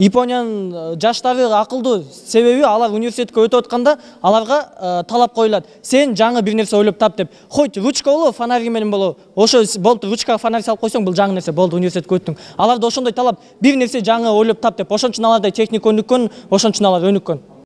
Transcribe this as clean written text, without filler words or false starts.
Япониянын жаштары акылдуу, себеби алар университетке өтүп атканда аларга талап коюлат. Сен жаңы бир нерсе ойлоп тап деп. Хоть ручка болобу, фонарь менен болобу. Ошо болуп ручкага фонарь салып койсоң, бул жаңы нерсе болду, университетке өттүң. Аларда ошондой талап, бир нерсе жаңы ойлоп тап деп. Ошон үчүн аларда техника өнүккөн, ошон үчүн алар өнүккөн.